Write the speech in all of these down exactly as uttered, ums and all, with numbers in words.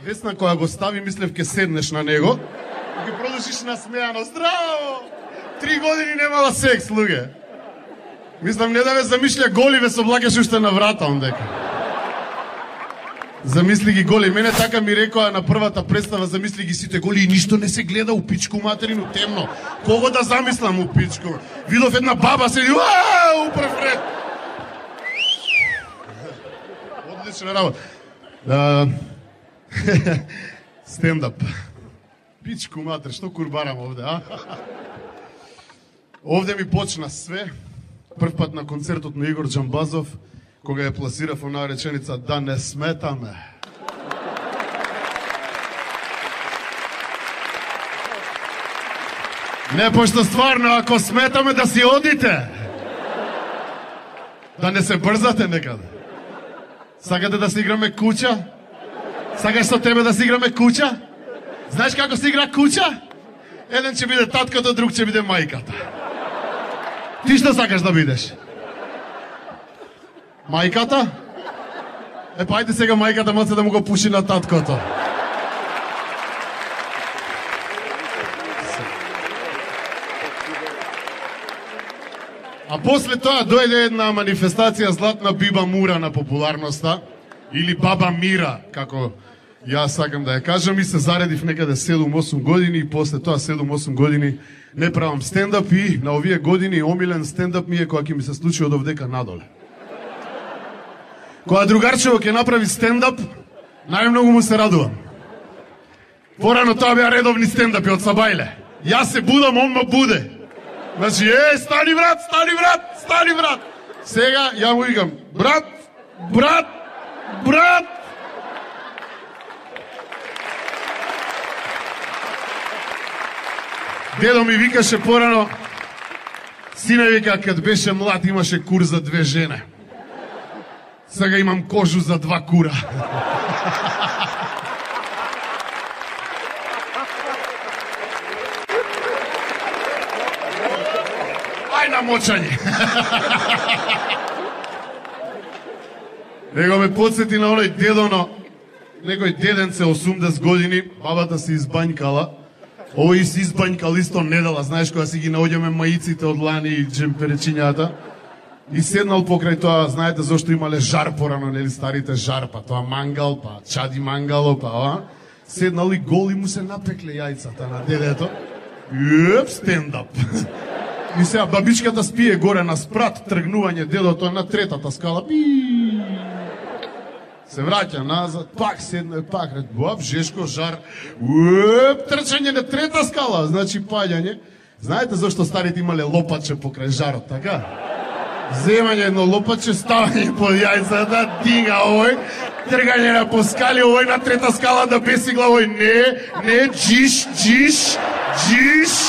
Весна која го стави, мислев ке седнеш на него, и ги продолжиш насмејано. Здраво! Три години немала секс, луѓе. Мислам, не да ве замишља голи, ве соблакаш уште на врата, ондека. Замисли ги голи. Мене така ми рекоа на првата представа, замисли ги сите голи и ништо не се гледа у пичку материну темно. Кого да замислам у пичку? Видов една баба седи, уау, прв ред. Одлична работа. Uh, Стендап. Пичку матер, што курбарам овде, а? Овде ми почна све. Прв пат на концертот на Игор Джамбазов, кога ја пласирав онаа реченица да не сметаме. Не, пошто стварно, ако сметаме да си одите, да не се брзате некаде. Сакате да си играме куча? Сакаш со тебе да си играме куча? Знаеш како се игра куча? Еден ќе биде таткото, друг ќе биде мајката. Ти што сакаш да бидеш? Мајката? Е, па ајде сега мајката моце да му го пуши на таткото. А после тоа дојде една манифестација Златна Биба Мура на популарноста, или Баба Мира, како јас сакам да ја кажам, и се заредив некаде седум-осум години, и после тоа седум-осум години не правам стендап, и на овие години омилен стендап ми е која ќе ми се случи од овдека надоле. Кога другарчево ќе направи стендап, најмногу му се радувам. Порано тоа беа редовни стендапи од Сабајле. Јас се будам, он ма буде. Значи, е, стани брат, стани брат, стани брат. Сега ја му викам, брат, брат, брат. Дедо ми викаше порано, сине вика, кад беше млад имаше кур за две жene. Сега имам кожу за два кура. Ај на мочање. Него ме подсети на оној дедоно, некој деденце осумдесет години, бабата се избањкала, овој си избањкал исто недела, знаеш кога си ги наоѓаме маиците од лани и джемперечињата, и седнал покрај тоа, знаете зашто имале жар порано, нели старите жар, па тоа мангал, па чади мангало, па ова, седнал и гол и му се напекле јајцата на дедето, и еп, стендап. И сега бабичката спие горе на спрат, тргнување дедото на третата скала, пи. Се враќа назад, пак седне, пак ред, баб, жешко, жар, уеп, трчање на трета скала, значи паѓање. Знаете зашто старите имале лопаче покрај жарот, така? Земање едно лопаче, ставање под јајцата, дига овој, тргање на по скали, овој на трета скала да бесигла, овој не, не, джиш, джиш, джиш.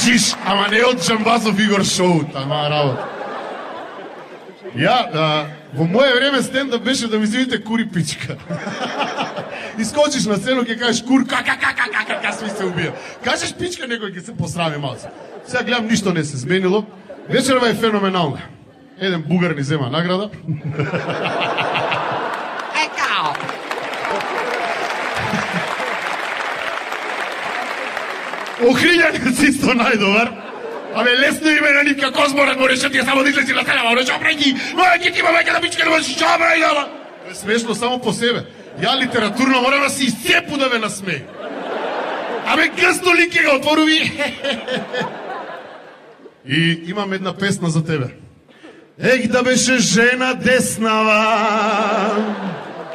Джиш, ама не од Джамбазов Игор шоу, тама работа. Ја, а, во моје време стендап беше да ми зивите кури пичка. Искочиш на сцену, ќе кажеш кур, кака, кака, кака, кака, сви се убија. Кажеш пичка, некој ќе се посрами малце. Сега гледам, ништо не се зменило. Вечерва е феноменална. Еден бугар ни зема награда. Екао! Охрињанец исто најдобар. Абе, лесно име на Нивка Козморат, мореше ти само да излези на сцена, мореше опреки, мореше ти има мајка да бичка, да можеш чао брајдала. Смешно само по себе. Ја литературно морам да се изцепу да ме насмеј. Абе, гъсто ли ке го отворуви? И имам една песна за тебе. Ех, да беше жена деснава.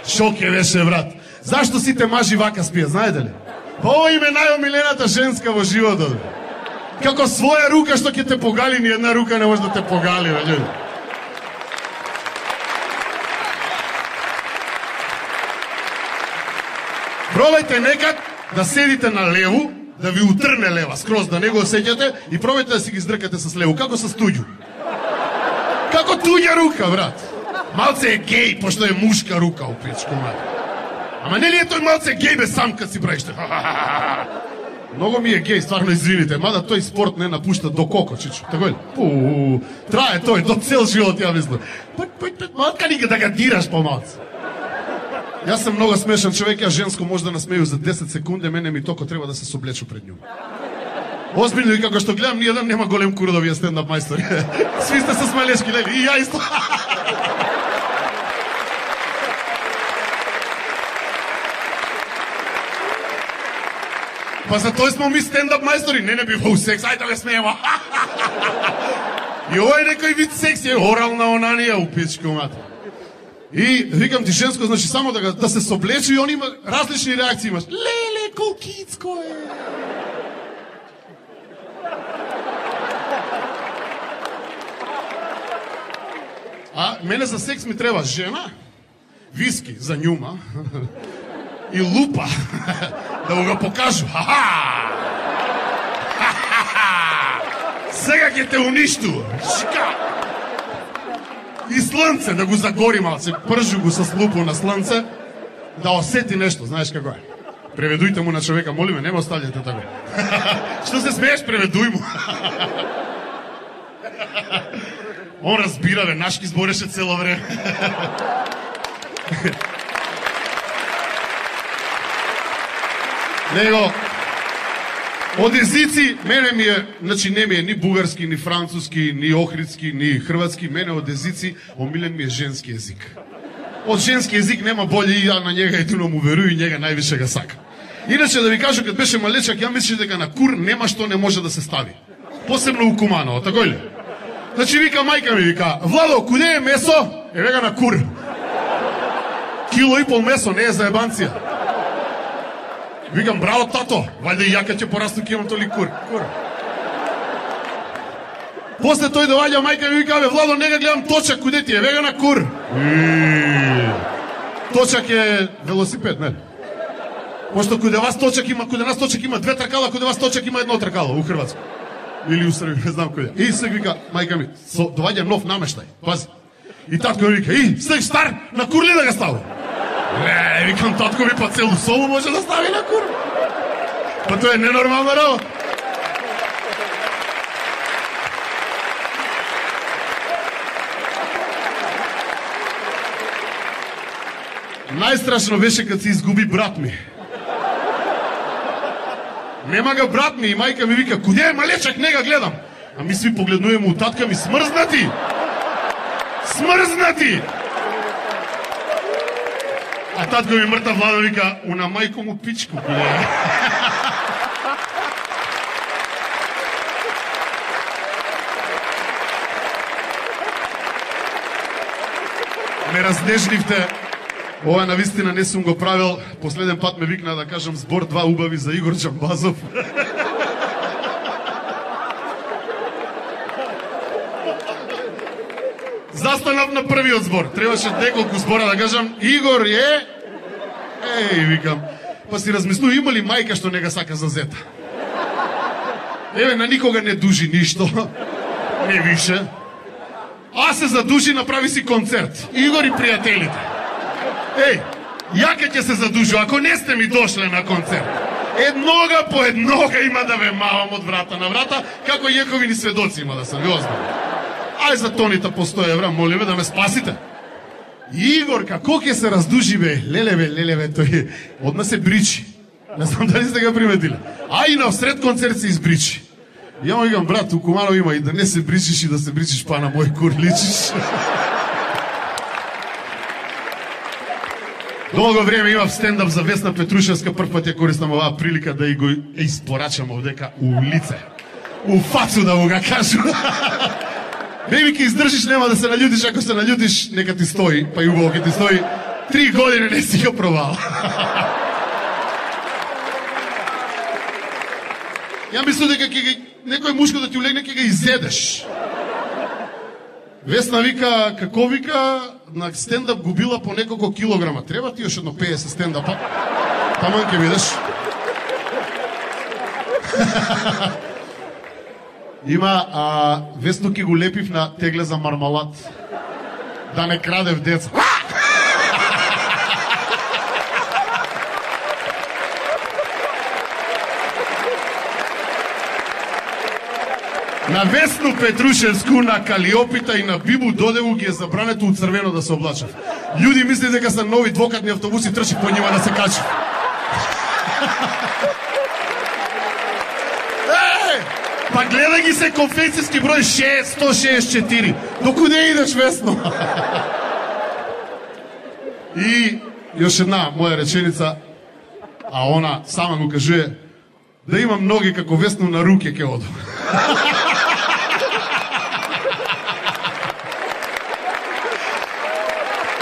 Шо ке беше, брат? Зашто сите мажи вака спија, знаете ли? Ова им е најомилената женска во животот. Како своја рука што ќе те погали, ни една рука не може да те погали, бе. Пробајте некад да седите на леву, да ви утрне лева, скроз да не го осеќате и пробајте да си ги здркате с леву, како с туѓу. Како туѓа рука, брат. Малце е геј, пошто е мушка рука у пичку, брат. Ама нели е тој малце геј бе сам кад си правиш? Многу ми е гей, стварно извините, мада тој спорт не напушта до коко, чичо. Тако е? Пу, трае тој до цел живот, ја мислам. Пак, пак, пак, малка ни да ga дираш помалце. Јас сум многу смешан човек, ја женско може да насмеju за десет секунди, мене ми токо треба да се соблечу пред њу. Озбилно и како што гледам, ниједен нема голем кур да вие стендап мајстори. Сви сте со смелешки, лели, и ја исто. Па за тој смо ми стендап мајстори, не не бива у секс, ајде да ме смееме. И ова е некој вид секс, е орална онанија у пичко мата. И викам ти женско, значи само да, да се соблече и он има различни реакции имаш. Леле, колкицко е. А мене за секс ми треба жена, виски за њума и лупа да го го покажу. Ха-ха! Сега ќе те уништу. Шика! И слънце да го загори малце, пржу го с лупо на слънце, да осети нешто, знаеш како е. Преведујте му на човека, молиме, не ме оставljате така. Што се смееш, преведуј му. Он разбира, бе, нашки збореше цело време. Него, од езици, мене ми е, значи не ми е ни бугарски, ни француски, ни охридски, ни хрватски, мене од езици, омилен ми е женски език. Од женски език нема болje и ја на njega едино му верую и njega највише ga сака. Иначе да ви кажу, кад беше малечак, ја мислиш дека на кур нема што не може да се стави. Посебно у Куманово, тако ли? Значи вика мајка ми, вика, Владо, куде е месо? Е вега на кур. Кило и пол месо, не е за ебанција. Викам, браво, тато, вајде и јака ќе порасту, ќе имам толи кур. Кур. После тој доаѓа мајка ми вика, бе, Владо, нега гледам точак, куде ти е? Вега на кур. Точак е велосипед, не? Пошто куде вас точак има, куде нас точак има две тркала, куде вас точак има едно тркало у Хрватска. Или у Србија, не знам куде. И сега вика, мајка ми, со, доаѓа нов намештај, пази. И татко ми вика, и, стег стар, на кур ли да ga ставам? Не, викам, татко ми па целу собу може да стави на кур. Па тоа е ненормална работа. Најстрашно беше кад се изгуби брат ми. Нема ga брат ми и мајка ми вика, куде е малечак, не ga гледам. А ми сви погледнуваме у татка ми, смрзнати! Смрзнати! А татко ми мртав Владо вика, уна мајко му пичку, куде е. Ме разнежливте. Ова навистина не сум го правил. Последен пат ме викна да кажам збор два убави за Игор Джамбазов. Застанав на првиот збор. Требаше неколку збора да кажам. Игор е... Еј, викам. Па си размислу, има ли мајка што не га сака за зета? Еве, на никога не дужи ништо. Не више. А се задужи, направи си концерт. Игор и пријателите. Еј, јака ќе се задужу, ако не сте ми дошле на концерт. Еднога по еднога има да ве мавам од врата на врата, како јековини сведоци има да се ви озбавам. Ај за тоните по сто евра, молиме да ме спасите. Игор, како ќе се раздужи, бе? Леле, бе, леле, бе, тој одма се бричи. Не знам дали сте го приметиле. А и на сред концерт се избричи. Ја му викам, брат, у Куманово има и да не се бричиш и да се бричиш, па на мој кур личиш. Долго време имав стендап за Весна Петрушевска, прв пат ја користам оваа прилика да и го испорачам овдека у лице. У фацу да му га кажу. Беби, ке издржиш, нема да се наљутиш, ако се наљутиш, нека ти стои, па и убаво ке ти стои. Три години не си го пробал. Ја мислам дека ке некој мушко да ти улегне, ке га изедеш. Весна вика, како вика, на стендап губила по неколку килограма. Треба ти još едно педесет стендапа. Таман ке видиш. Има, а, Весно ке го лепив на тегле за мармалад. Да не крадев деца. На Весну Петрушевску, на Калиопита и на Бибу Додеву ги е забрането од црвено да се облачат. Луѓе мислат дека се нови двокатни автобуси, трчи по нима да се качи. Е, па гледа ги се конфекцијски број шест сто шеесет и четири. Докуде идеш, Весно? И још една моја реченица, а она сама му кажува, да имам ноги како Весно на руке ке одам.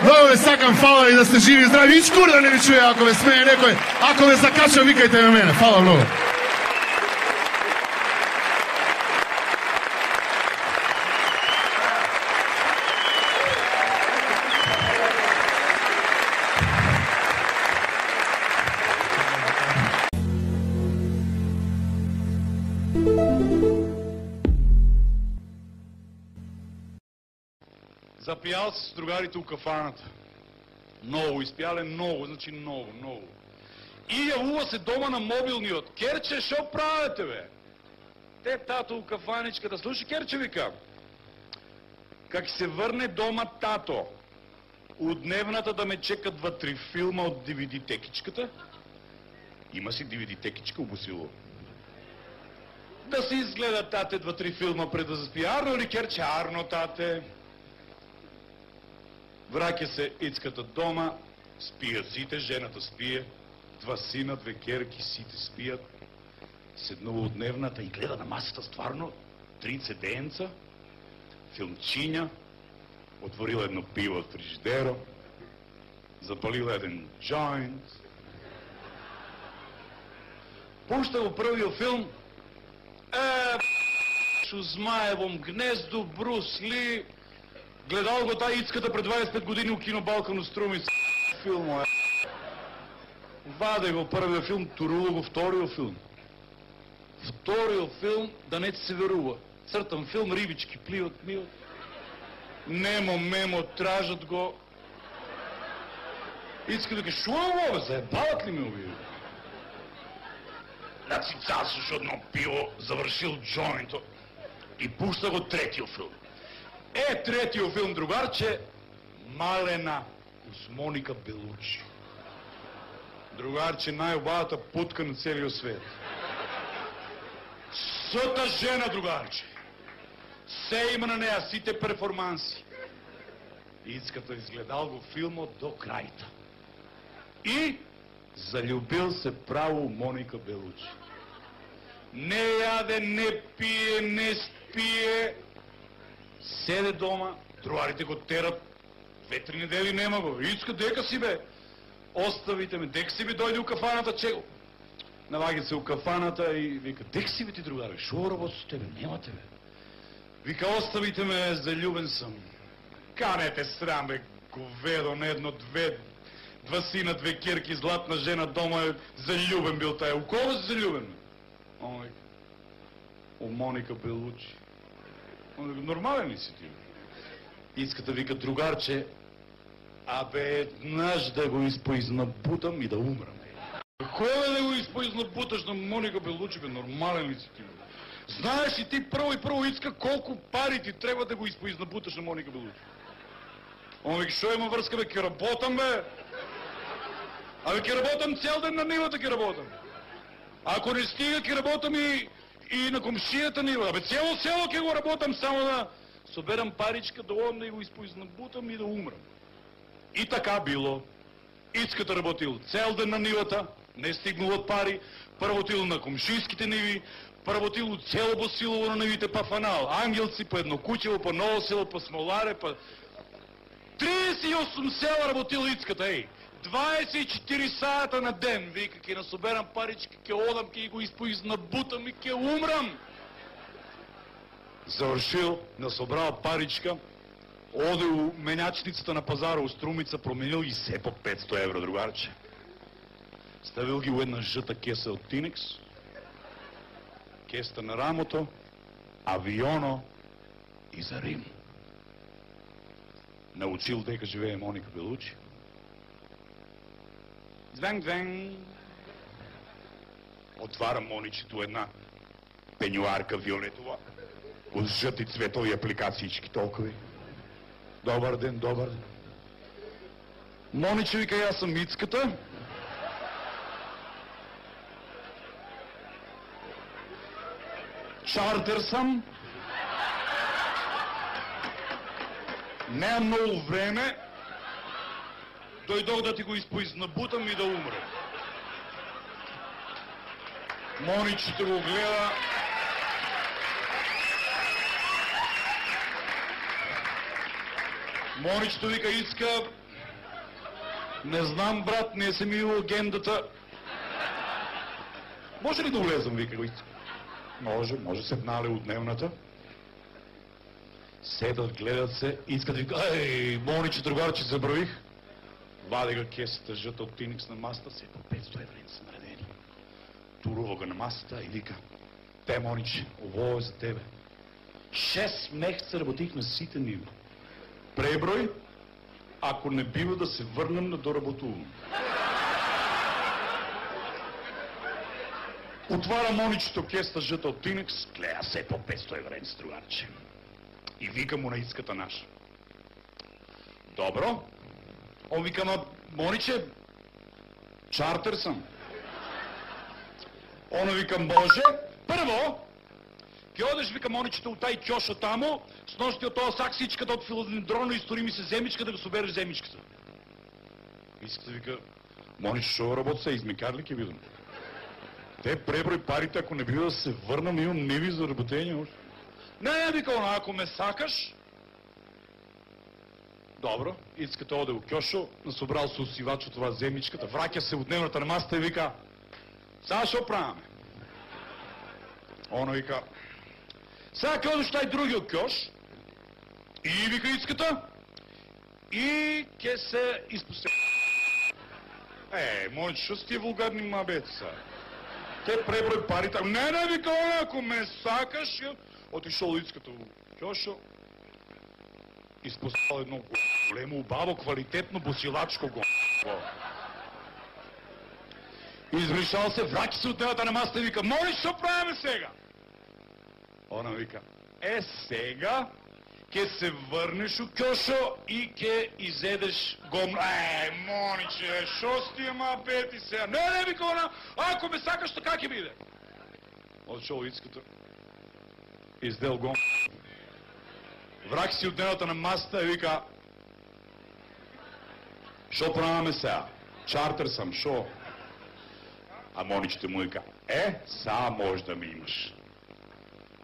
Много ве сакам, фала и да сте живи и здрави. И чкур да не ви чуе ако ве смее некој. Ако ве закача, викајте ме мене. Фала много. Запијал се с другарите у кафаната. Многу, испијале многу, значи многу, многу. И јавува се дома на мобилниот. Керче, шо правите, бе? Те тато у кафаничката. Слушай, Керче, вика. Как се врне дома тато, у дневната да ме чека два-три филма од ди ви ди-текичката. Има си ди ви ди-текичка у Босило. Да се изгледа тате два-три филма пред да заспи. Арно ли, Керче? Арно, тате. Враќа се Ицката дома, спијат сите, жената спие, два сина, две керки, сите спијат. Седнува од дневната и гледа на масата стварно три цеденца, филмчиња, отворила едно пиво од фрижидеро, запалила еден джойнт, пушта го првиот филм, е, шу Змаевом гнезду, Брус Ли. Гледал го таа Ицката пред дваесет и пет години у кино Балкан у Струми, филмо е. Ваде го првиот филм, турува го вториот филм. Вториот филм, да не ти се верува. Цртан филм, рибички пливат, миват. Немо, мемо, тражат го. Ицка да ке, шо е ovo, заебават ли ме овие? Значи цасуш одно пиво, завршил джойнто и пушта го третиот филм. Е, третиот филм, другарче, Малена с Моника Белучи. Другарче, најубавата путка на целиот свет. Сота жена, другарче. Се има на неа, сите перформанси. Ицката изгледал го филмот до крајта. И заљубил се право у Моника Белучи. Не јаде, не пие, не спие. Седе дома, другарите го терат, две-три недели нема го. Ицка, дека си бе? Оставите ме, дека си бе, дојде у кафаната, чего? Наваѓа се у кафаната и вика, дека си бе ти, другаре, шо работи с тебе? Нема тебе. Вика, оставите ме, заљубен сам. Канете срам, бе, говедо, на едно, две, два сина, две керки, златна жена, дома е заљубен бил тај. У кого си заљубен? Он вика, у Моника Белучи. Нормален ли си ти? Ицката вика, другарче, абе, еднаш да го испоизнабутам и да умрам. Кој да го испоизнабуташ на Моника Белучи, бе, нормален ли си ти? Знаеш ли ти прво и прво, Ицка, колку пари ти треба да го испоизнабуташ на Моника Белучи? Он вика, шо има врска, бе, ке работам, бе? Абе, ке работам цел ден на нивата, ке работам. Ако не стига, ке работам и и на комшијата нива. Абе, цело село ке го работам само да соберам паричка, да одам да го испоизнабутам и да умрам. И така било. Ицката работил цел ден на нивата, не стигнал од пари, поработил на комшијските ниви, поработил цело Босилово на нивите, па фанал, Ангелци, па едно куќево, па Ново село, па Смоларе, па... триесет и осум села работил Ицката, еј. дваесет и четири сата на ден, вика, ке насоберам парички, ке одам, ке го испоизнабутам и ке умрам. Завршил, насобрал паричка, оде у менјачницата на пазара у Струмица, променил ги се по петсто евро, другарче. Ставил ги у една жта кеса од Тинекс, кеста на рамото, авионо и за Рим. Научил дека живее Моника Белучи. Звен, звен. Отварам Моничето една пенюарка виолетова. Од жъти цветови апликациички толкови. Добар ден, добар ден. Мониче вика, јас сум Мицката. Чартер сам. Немам многу време. Дојдох да ти го испоизнабутам и да умрем. Моничето го гледа. Моничето вика, иска... Не знам, брат, не се ми агендата. Може ли да улезам, вика го иска? Може, може, седнале от дневната. Седат, гледат се, искат да вика, ей, Мониче, другарче, забравих. Вади го кесата жъта от Тиникс на масата, се по петсто евро са наредени. Турува го на масата и вика, те, Мониче, ово е за тебе. Шест месеца работих на сите ниво. Преброй, ако не бива да се върнем на доработуване. Отваря Моничето кеста жъта от Тиникс, гледа се по петсто евро с другарче. И вика му на иската наша. Добро. Он вика, ма, Мониче, чартер съм. Она вика, може. Първо, ке одеш, вика, Моничето, от тай кьоша тамо, с нощи от това саксичката от филодендроно и стори ми се земичка да го собереш земичката. Иската вика, Мониче, шо работа се, измекар ли ке видам? Те преброй парите, ако не бива да се върнам, имам неви за работение още. Не, не, вика, она, ако ме сакаш. Добро, искате оде у кьошо, насобрал се усивач от това земичката, враќа се от дневната на масата и вика, сега шо праваме? Она вика, сега ке одеш тај другиот кьош, и вика иската, и ке се изпусти. Е, Мониче, шо си тие вулгарни мабети са? Те преброј парите, не, не, вика, ако ме сакаш, отишол иската у кьошо, изпустал едно големо, убаво, квалитетно босилачко го. Измишал се, враќа се от дневната на масата и вика, Мониче, шо правиме сега? Она вика, е сега ке се върнеш у кьошо и ке изедеш гомно. Е, Мониче, шо с тия мабети сега? Не, не, вика она, ако ме сакаш, така ке биде. Отшол иската, издел гомно. Врак си от дневната на масата и вика, шо правиме сега? Чартер съм, шо? А Моничето му вика, е, са може да ми имаш.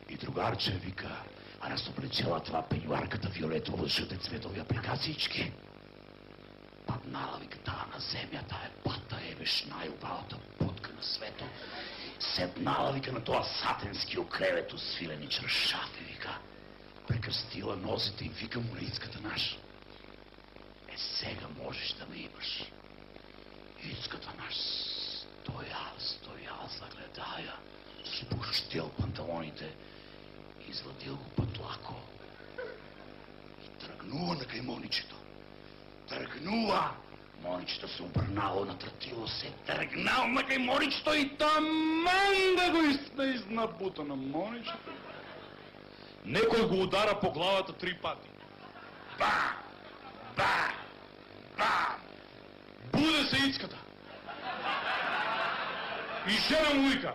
И другарче вика, а нас облечела това пенюарката фиолетово жъте цветови апликациички. Паднала, вика, тая на земята е пата, ебеш най-убавата путка на свето. Седнала, вика, на това сатенски окревето свилени чаршафи, вика. Прекръстила нозите и вика му на иската наша. Е, сега можеш да ме имаш. Иската наш стоял, стоял, загледая, спущил панталоните, извадил го пътлако и тръгнува на кај Моничето. Тръгнува! Моничето се обърнало, натрътило се, тръгнал на кај Моничето и таман да го изна изнабута на Моничето. Некој го удара по главата три пати. Ба! Ба! Ба! Буде се иската. И жена му вика,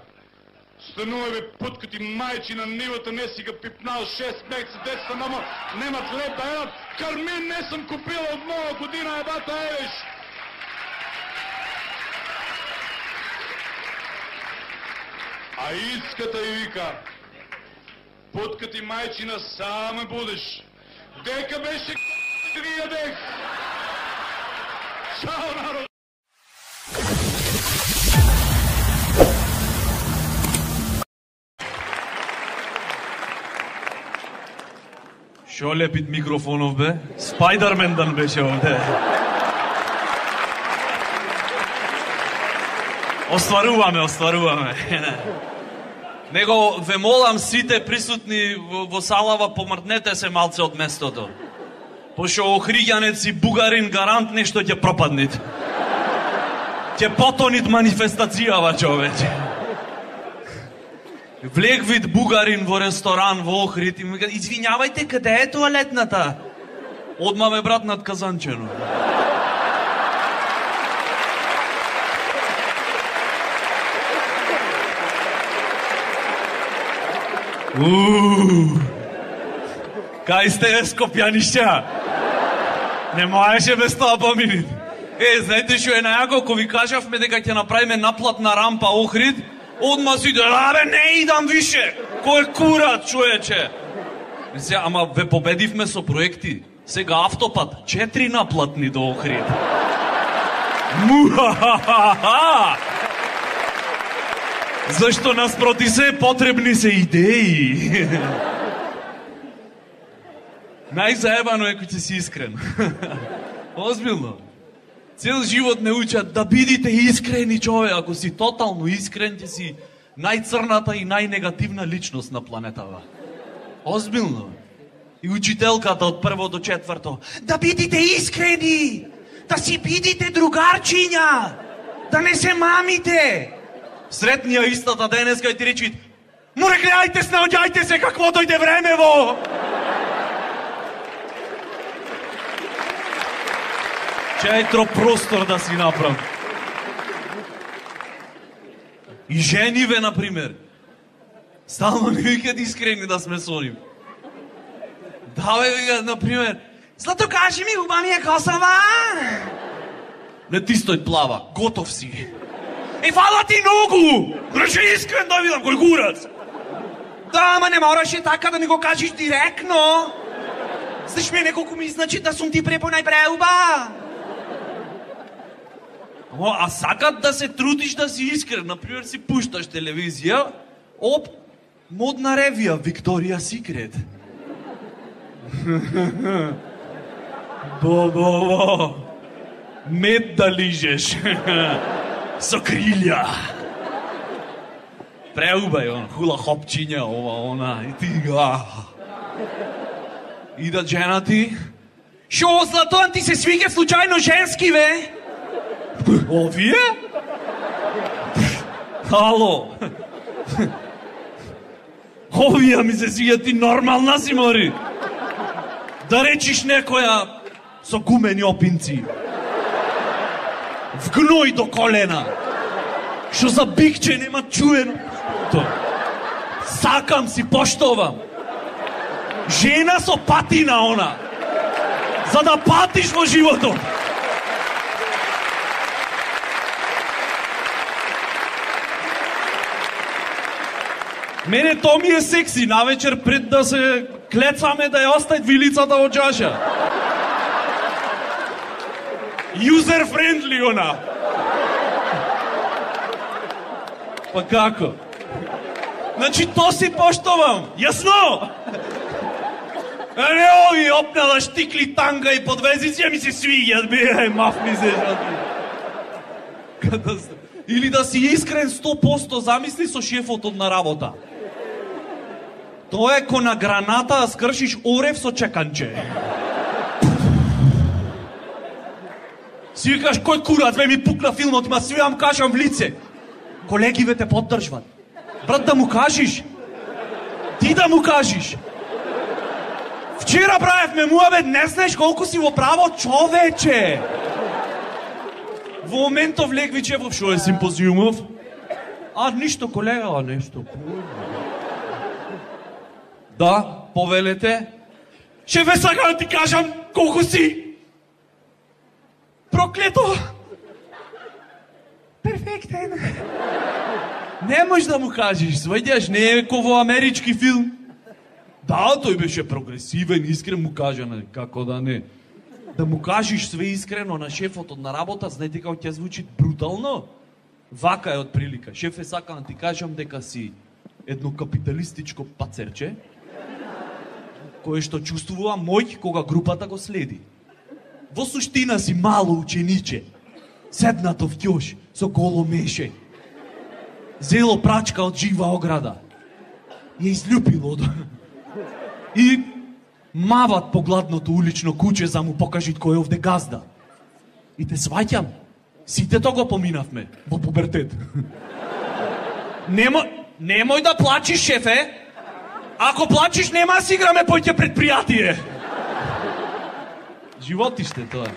станува бе путка ти майчи на нивата, не си га пипнал шест месеца, деца мамо, немат леп да едат, кармин не съм купила от нова година, ебата евеш. А иската и вика, путка ти майчина, саме будеш. Дека беше да ги ядех. Чао, народ! Шо лепит микрофонов бе? Спайдермендан беше овде. Остваруваме, остваруваме. Него ве молам сите присутни во, во салава, помртнете се малце од местото. Пошо охриѓанец и бугарин гарант нешто ќе пропаднит. Ќе потонит манифестацијава, човече. Влег вид бугарин во ресторан во Охрид и ми кажа, извинјавајте, каде е тоалетната? Одма ме брат над казанчено. Ууу. Кај сте, скопјанишќа? Не можеше без тоа поминит. Е, знаете што е најако, ако ви кажавме дека ќе направиме наплатна рампа Охрид, одма си да, абе, не идам више. Кој курат, човече? Мисля, ама ве победивме со проекти. Сега автопат, четири наплатни до Охрид. Мухахахаха! Зашто наспроти се потребни се идеи. Најзаебано е кој ќе си искрен. Озбилно. Цел живот не учат да бидите искрени, човек. Ако си тотално искрен, ќе си најцрната и најнегативна личност на планетава. Озбилно. И учителката од прво до четврто. Да бидите искрени! Да си бидите другарчиња! Да не се мамите! Сретнија истата денеска и ти речи: море, гледајте, снаоѓајте се какво дојде времево! Четро простор да си направам. И жениве, например. Стално не викат искрени да сме со нив. Да, бе, викат, например, Злато, кажи ми, губа ми е косова? Не ти стој плава, готов си. Е, фала ти ногу! Рече искрен да видам, кој курац? Да, ама не мораше така да ми го кажеш директно. Знаеш ме неколку ми значи да сум ти препонај преуба. Ама, а сакат да се трудиш да си искрен. Например, си пушташ телевизија, оп, модна ревија, Викторија Секрет. Бо, бо, бо. Мед да лижеш. Со крилја. Преубај, он, хула хопчиња, ова, она, и ти га. Идат женати. Шо, Златоан, ти се свиѓа случајно женски, бе? Овие? Ало. Овие ми се свиѓа, ти нормална си, мори. Да речиш некоја со гумени опинци. Вгној до колена. Што за бикче нема чуено. То. Сакам си, поштовам. Жена со патина она. За да патиш во животот. Мене то ми е секси, навечер пред да се клецаме да ја остави вилицата во чаша. User friendly она. Па како? Значи то си поштовам, јасно? А не ови опнала штикли, танга и подвезици, ми се свиѓат, бе, маф ми се жати. Или да си искрен сто проценти, замисли со шефот на работа. Тоа е ко на граната да скршиш орев со чеканче. Си викаш, кој курац, бе, ми пукна филмот, ма свивам, кажам в лице. Колегиве те поддржват. Брат, да му кажиш. Ти да му кажиш. Вчера правевме муабет, не знаеш колку си во право, човече. Во моментов Легвичев, шо е симпозиумов? А, ништо, колега, а нешто. Да, повелете. Шефе, сакам да ти кажам колку си проклето. Перфектен. Не можеш да му кажеш, сваѓаш, не е ко во амерички филм. Да, тој беше прогресивен, искрен му кажа, како да не. Да му кажеш све искрено на шефот на работа, знаете како ќе звучи брутално? Вака е од прилика. Шефе, сакам да ти кажам дека си едно капиталистичко пацерче, кое што чувствува мој кога групата го следи. Во суштина си мало учениче, седнато в ќош со голо меше. Зело прачка од жива ограда. Ја изљупило од... И мават по гладното улично куче за му покажит кој е овде газда. И те сваќам. Сите тоа го поминавме во пубертет. Нема... Немој да плачиш, шефе. Ако плачиш, нема да си играме поќе предпријатие. Животиште тоа.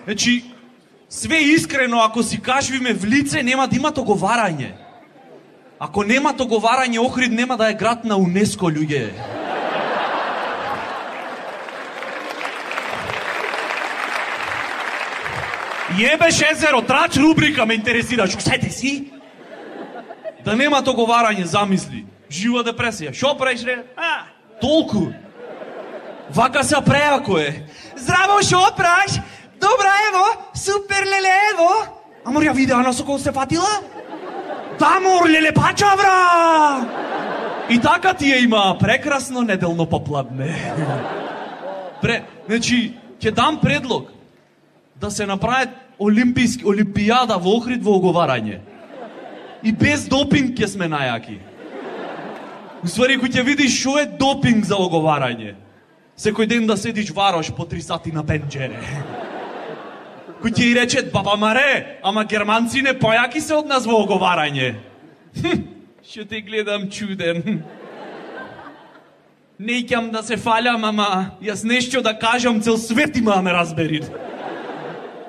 Значи, све искрено, ако си кажвиме в лице, нема да има договарање. Ако нема договарање, Охрид нема да е град на УНЕСКО, луѓе. Јебеш езеро, трач рубрика ме интересираш. Сете си? Да нема договарање, замисли. Жива депресија. Шо правиш, ре? А, толку. Вака се преако е. Здраво, шо правиш? Добра, ево, супер, леле, ево. Амор, ја видеа на со кого се фатила? Да, мор, леле, пача, бра! И така ти ја има прекрасно неделно попладне. Пре, значи, ќе дам предлог да се направи олимписки, олимпијада во Охрид во оговарање. И без допинг ќе сме најаки. Уствари, кој ќе видиш шо е допинг за оговарање. Секој ден да седиш варош по три сати на пенџере. Кој ќе и рече, баба Маре, ама германци не појаки се од нас во оговарање. Хм, шо те гледам чуден. Не икам да се фалям, ама јас нешто да кажам, цел свет има да ме разбери.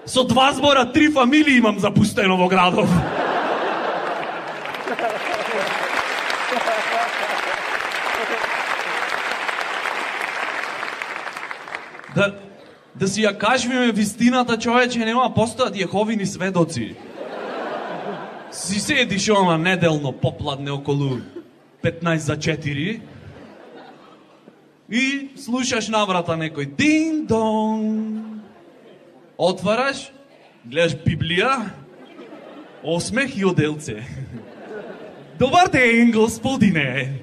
Со два збора, три фамилии имам запустено во градов. Да, да си ја кажвиме вистината, човече, нема постојат Јеховини сведоци. Си седиш ома неделно попладне околу петнаесет за четири и слушаш на врата некој дин-дон. Отвараш, гледаш Библија, осмех и оделце. Добар ден, господине.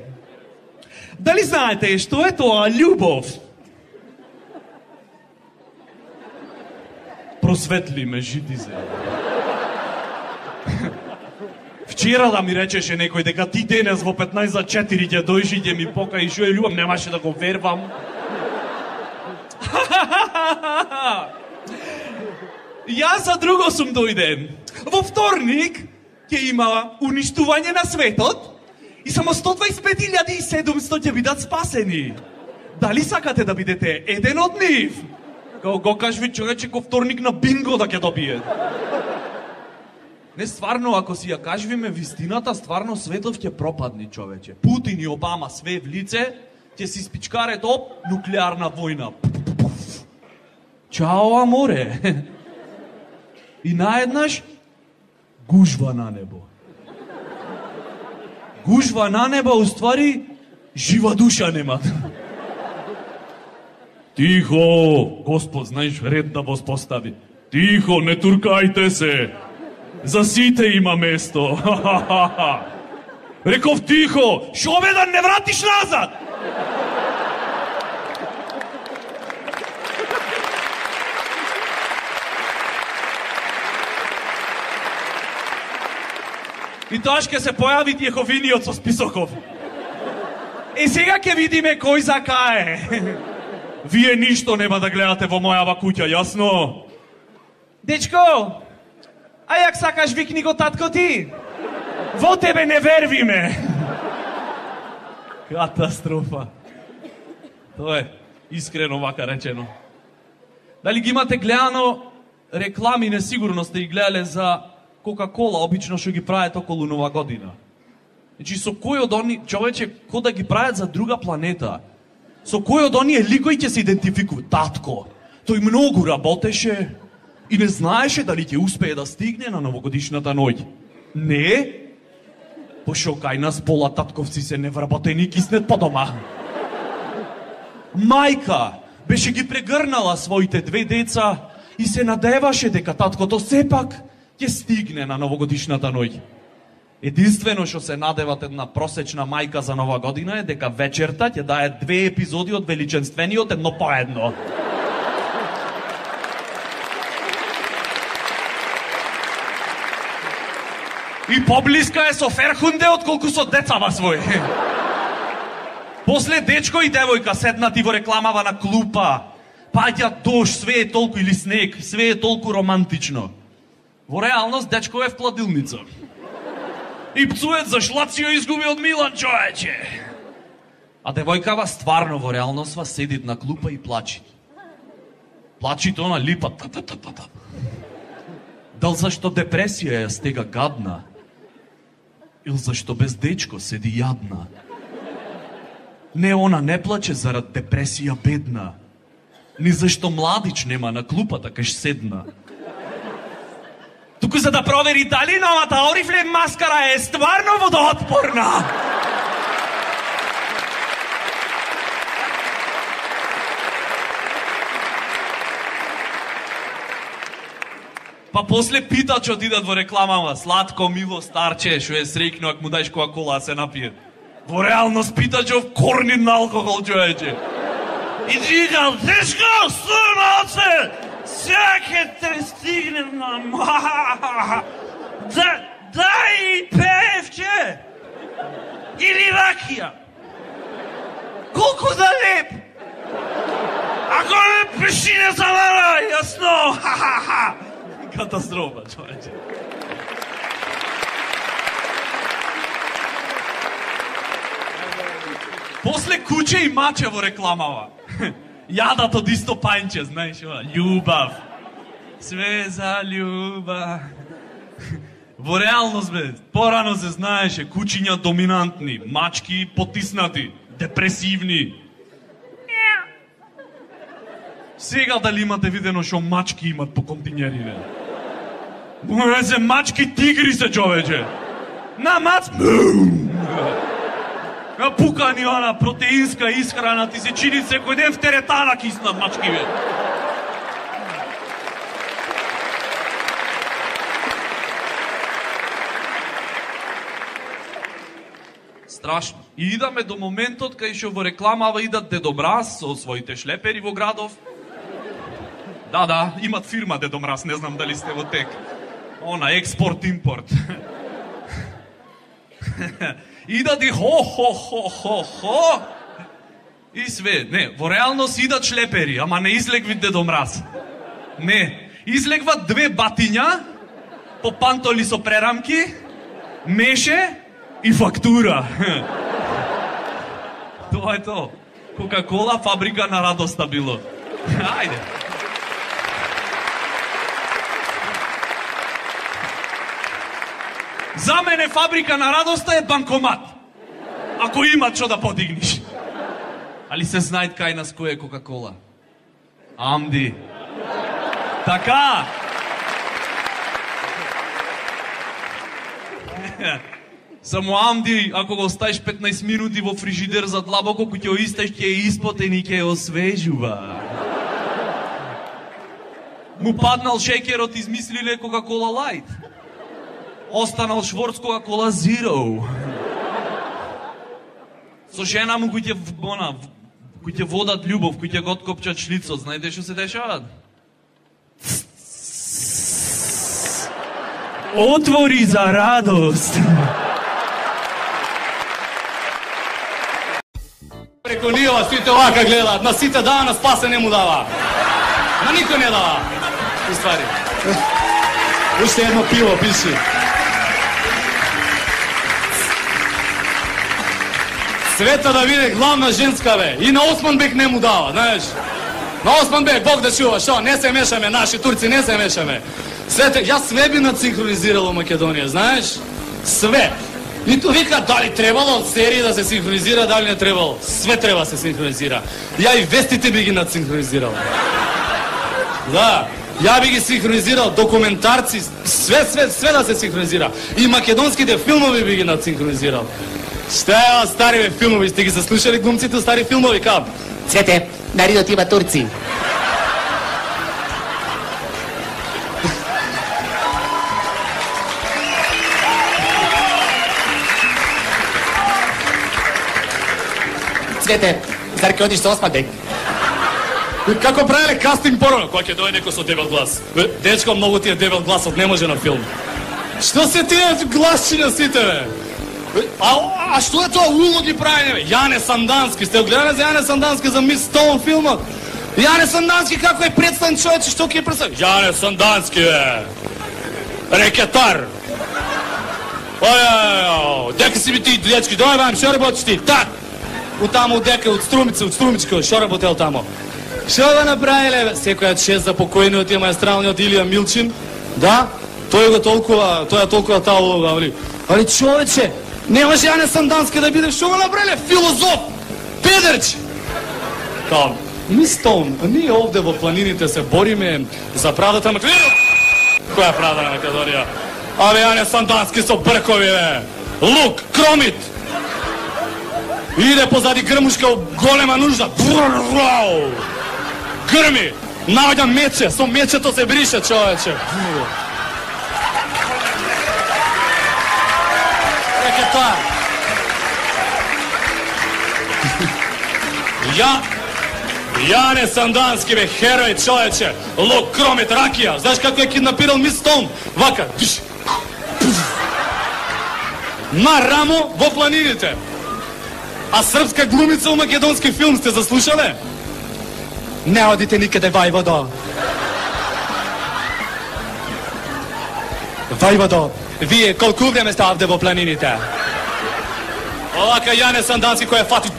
Дали знаете што е тоа љубов? Просветли ме, жити се. Вчера да ми речеше некој дека ти денес во петнаесет за четири ќе дојши и ќе ми покаи шо е љубов, немаше да го вервам. Јас за друго сум дојден. Во вторник ќе има уништување на светот и само сто дваесет и пет илјади и седумстотини ќе бидат спасени. Дали сакате да бидете еден од нив? Као го кажви човече ко вторник на бинго да ќе добие. Не, стварно, ако си ја кажвиме вистината, стварно светот ќе пропадне, човече. Путин и Обама све в лице, ќе си спичкаре до нуклеарна војна. Чао, аморе. И наеднаш гужва на небо. Гужва на небо, уствари, жива душа нема. Тихо, Господ, знаеш, ред да воспостави. Тихо, не туркајте се. За сите има место. Реков тихо, шо бе да не вратиш назад? И тоа ќе се појави Јеховиниот со списоков. И сега ќе видиме кој закае. Вие ништо нема да гледате во мојава куќа, јасно? Дечко, а јак сакаш викни го татко ти? Во тебе не вервиме. Катастрофа. Тоа е искрено вака речено. Дали ги имате гледано реклами, несигурно сте ги гледале за Кока-кола, обично што ги прават околу Нова година. Значи, со кој од они, човече, ко да ги прават за друга планета, со кој од оние ликои ќе се идентификува? Татко, тој многу работеше и не знаеше дали ќе успее да стигне на новогодишната ноќ. Не? Пошо кај нас пола татковци се невработени и киснет по дома. Мајка беше ги прегрнала своите две деца и се надеваше дека таткото сепак ќе стигне на новогодишната ноќ. Единствено што се надеват една просечна мајка за Нова година е дека вечерта ќе дае две епизоди од Величенствениот едно по едно. И поблиска е со Ферхунде отколку со децава свој. После дечко и девојка седнати во рекламава на клупа. Паѓа дожд, све е толку или снег, све е толку романтично. Во реалност дечко е в кладилница. И пцует за шлацио изгуби од Милан, човече. А девојкава стварно во реалноста седит на клупа и плачи. Плачи то на липа. Дал зашто депресија ја стега гадна? Или зашто без дечко седи јадна? Не, она не плаче зарад депресија бедна. Ни зашто младич нема на клупата кај седна. Туку за да провери дали новата Oriflame маскара е стварно водоотпорна. Па после питачот идат во рекламама, сладко, мило старче, шо е среќно ако му дајш Кока-кола се напие. Во реалност питачов корнин на алкохол, човече. И дигал, тешко, суноце, сјаке те стигне на ма. Да, дај певче. Или ракија. Колку да леп. Ако не пиши не завара, јасно. Ха-ха-ха. Катастрофа, човече. После куче и маче во рекламава. Јадат од исто пајнче, знаеш, љубав. Све за љубав. Во реалност, бе, порано се знаеше, кучиња доминантни, мачки потиснати, депресивни. Сега дали имате видено шо мачки имат по континери, бе? Се мачки тигри се, човече. На мац... Пукани она протеинска исхрана, ти се чини секој ден в теретана киснат мачки, бе. Страшно. И идаме до моментот кај што во рекламава идат Дедо Мраз со своите шлепери во градов. Да, да, имат фирма Дедо Мраз, не знам дали сте во тек. Она, експорт-импорт. Идат и хо-хо-хо-хо-хо. И све, не, во реалност идат шлепери, ама не излегви Дедо Мраз. Не, излегват две батиња, по пантоли со прерамки, меше и фактура. Тоа е то. Кока-кола, фабрика на радоста било. Ајде. За мене фабрика на радоста е банкомат. Ако има што да подигниш. Али се знаат кај нас кој е Кока-кола. Амди. Така. Само Амди, ако го оставиш петнаесет минути во фрижидер за длабоко, кој ќе исташ, ќе е испотен и ќе освежува. Му паднал шекерот, измислиле Кока-кола Лайт. Останал Шворц Кока-кола Зиро. Со жена му кој ќе она, кој ќе водат љубов, кој ќе го откопчат шлицот, знаете што се дешават? Отвори за радост. Преко нива сите овака гледаат, на сите дава, на спасе не му дава. На никој не дава. И ствари. Уште едно пиво, пиши. Света да биде главна женска, бе. И на Османбек не му дава, знаеш. На Османбек, Бог да чува, шо, не се мешаме, наши турци не се мешаме. Свете, јас све би надсинхронизирал во Македонија, знаеш? Све. Ниту вика дали требало од серии да се синхронизира, дали не требало. Све треба се синхронизира. Ја и вестите би ги надсинхронизирал. Да, ја би ги синхронизирал, документарци, све, све, све да се синхронизира. И македонските филмови би ги надсинхронизирал. Што е, стари бе, филмови, сте ги заслушали глумците стари филмови, кап? Цвете, народот има турци. Цвете, зар ќе одиш со Османбек? Како правеле кастинг порано, кога ќе дојде некој со дебел глас. Дечко, многу ти е дебел гласот, не може на филм. Што се тие гласчиња сите, бе? А, а што е тоа улоги правење, бе? Јане Сандански, сте гледале за Јане Сандански за Мис Стоун филмот? Јане Сандански како е представен човече, што ќе е представен? Јане Сандански, бе! Рекетар! Ојајајај, дека си ми ти, дечки, дој вам, шо работиш ти? Так! От тамо, от дека, от Струмица, от Струмичка, шо работел тамо? Шо го направиле, бе? Секојат шест за покојниот и маестралниот Илија Милчин, да? Тој го толкова, тој е толкова таа улога, али? Али човече, не може Јане Сандански да биде, шо го направиле? Филозоф! Педерч! Као, Мистон, ние овде во планините се бориме за правдата на Македонија. Која е правда на Македонија? Абе, Јане Сандански со бркови, бе! Лук, кромит! Иде позади грмушка голема нужда. Грми! Наоѓа мече, со мечето се брише, човече. Рекетар. Ја... Јане Сандански, бе, херој, човече. Лук, кромит, ракија. Знаеш како е киднапирал Мис Стоун? Вака. На рамо во планините. А српска глумица у македонски филм сте заслушале? Не одите никаде, Вајводо. Вајводо, вие колку време сте овде во планините? Овака Јане Сандански кој е фати.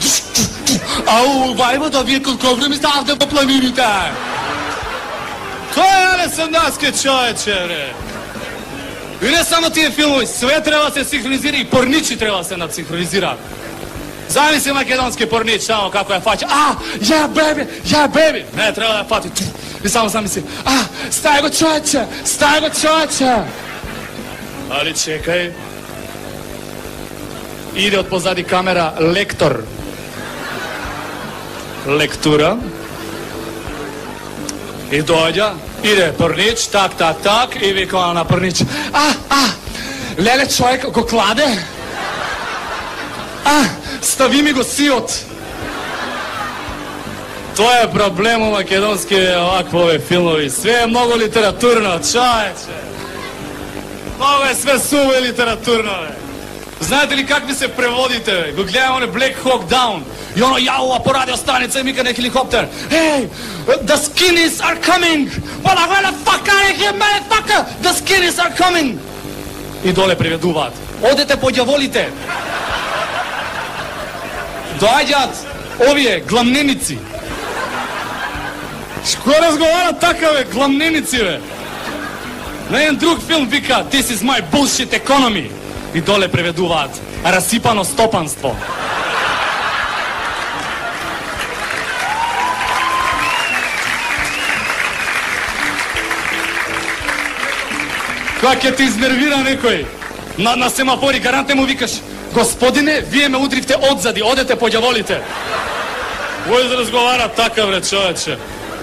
Ау, Вајводо, вие колку време сте овде во планините? Тој е Јане Сандански, човече, бре. И не само тие филмови, све треба да се синхронизира и порничи треба да се надсинхронизира. Замисли македонски порнич, само како ја фаќа. А, ја беби, ја беби. Не, треба да ја фати. И само замисли. А, стај го човече, стај го човече. Али чекај. Иде од позади камера лектор. Лектура. И доаѓа, иде порнич, так, так, так, и вика на порнич. А, а, леле човек го кладе. А, стави ми го сиот. Тоа е проблем у македонски оваквови филмови. Све е многу литературно, човече. Много е све суво и литературно, бе. Знаете ли как ви се преводите, бе? Го гледам оне Black Hawk Down. И оно јаува по радиостаница и мика на хеликоптер. Hey, the skinnies are coming. Well, where the fuck are you, motherfucker? The skinnies are coming. И доле преведуваат. Одете по ѓаволите. Доаѓаат овие гламненици. Шко разговара така, бе, гламненици, бе? На еден друг филм вика This is my bullshit economy. И доле преведуваат расипано стопанство. Кога ќе те изнервира некој на, на семафори, гарантне му викаш: господине, вие ме удривте одзади, одете по ѓаволите. Вој да разговара така, бре, човече.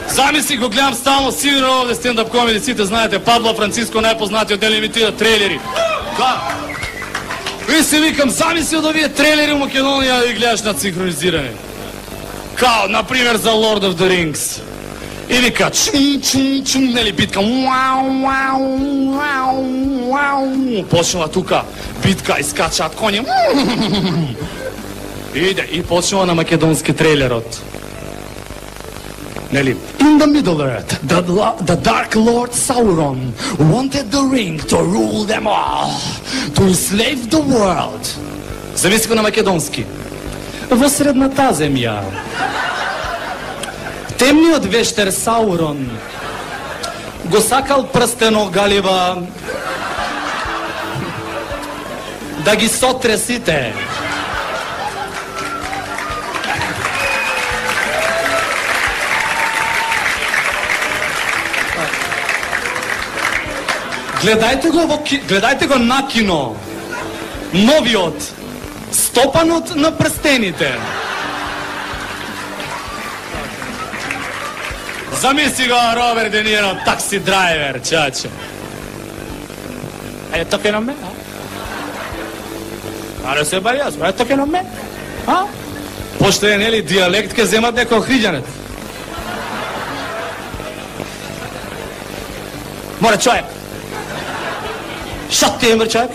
Замисли, го гледам стално, сигурно овде стендап комеди, сите знаете, Пабло Франциско, најпознатиот дел имитира трейлери. Да. И се викам, замисли од овие трейлери у Македонија да ги гледаш на синхронизиране. Као, например, за Lord of the Rings. И вика, чум, чум, чум, нели битка, уау, уау, уау, уау. Почнува тука битка, искачаат коњи. Иде, и почнува на македонски трейлерот. Нели? In the Middle Earth, the, the Dark Lord Sauron wanted the ring to rule them all, to enslave the world. Замисли го на македонски. Во средната земја, темниот вештер Саурон го сакал прстено галива да ги сотре сите. Гледајте го, во, гледајте го на кино. Новиот Стопанот на прстените. Замисли го Роберт Де Ниро, такси драйвер, чаче. Е, токе на ме, а? Аре се бари јас, е, токе на ме, а? Пошто е, нели, диалект ке земат некој хриѓанец. Море, човек. Шо ти е, мр, човек?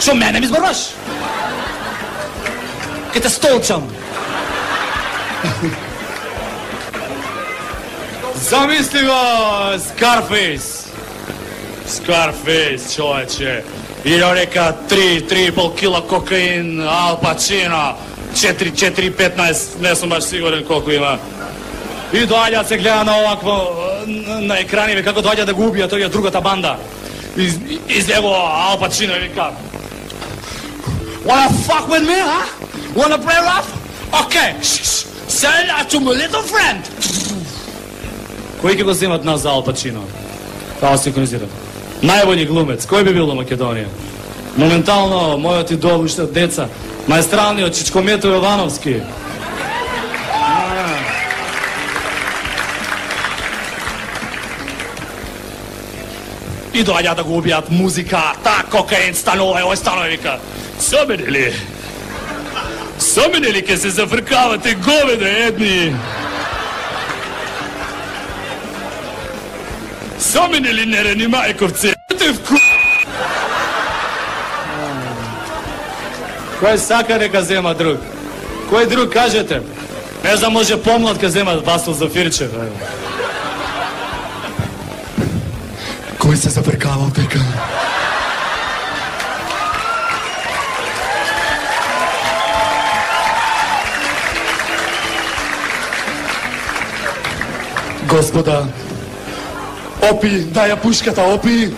Шо мене ми зборваш? Ке те столчам. Замисли го Scarface. Scarface, човече. И река три, три и пол кила кокаин, Ал Пачино, четири, четири, петнаесет, не сум баш сигурен колку има. И доаѓа се гледа на овакво, на екраниве, како доаѓа да го убија тој другата банда. Из, излего Ал Пачино и вика: Wanna fuck with me, huh? Wanna play rough? Okay, say that to my little friend. Кој ќе го земат нас за Ал Пачино? Тоа синхронизира. Најбољи глумец, кој би бил во Македонија? Моментално, мојот идол уште деца, маестралниот Чичкомето Јовановски. И доаѓа да го убијат музика, та кокаин станува, ој станува вика: Со мене ли? Со мене ли ке се зафркавате говеде едни? Со мене ли нерени мајковце? Те вку... Кој сака нека зема друг? Кој друг кажете? Не знам, може помлад ке зема Васил Зафирчев. Кој се зафркавал дека? Господа, опи, дај ја пушката, опи!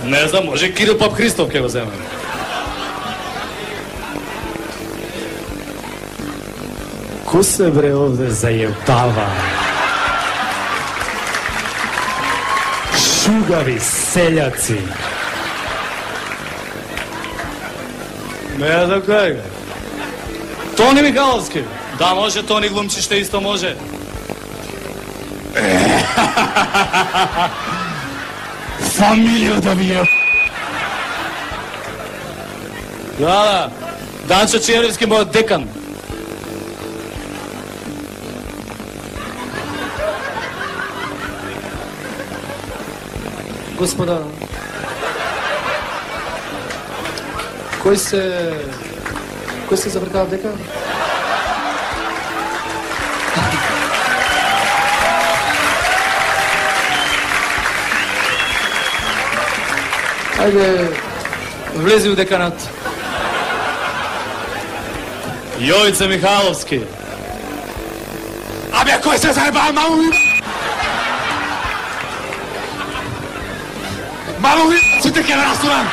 Не знам, може Кирил Поп Христов ке го земе. Ко се бре овде зајебава? Шугави селјаци. Не знам кај га. Тони Михайловски. Да, може, Тони глумчиште исто може. Фамилија да ми е. Да, да. Данчо Черевски мојот декан. Господа, кој се... кој се завркава декан? Ајде, влези у деканат. Јовица Михайловски. Абе, кој се заебал, маму ми... Маму ми... Сите ке ме расурам!